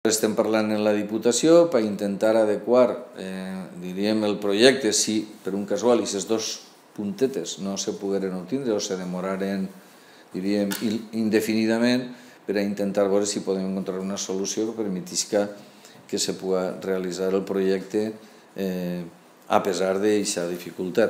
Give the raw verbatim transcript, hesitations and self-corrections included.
Estem parlant en la Diputació per intentar adequar, eh, diríem, el projecte si per un casual aquestes dos puntetes no se pogueren obtindre o se demoraren, diríem, indefinidament, per a intentar veure si podem encontrar una solució que permetisca que se pugui realitzar el projecte eh, a pesar d'aquesta dificultat.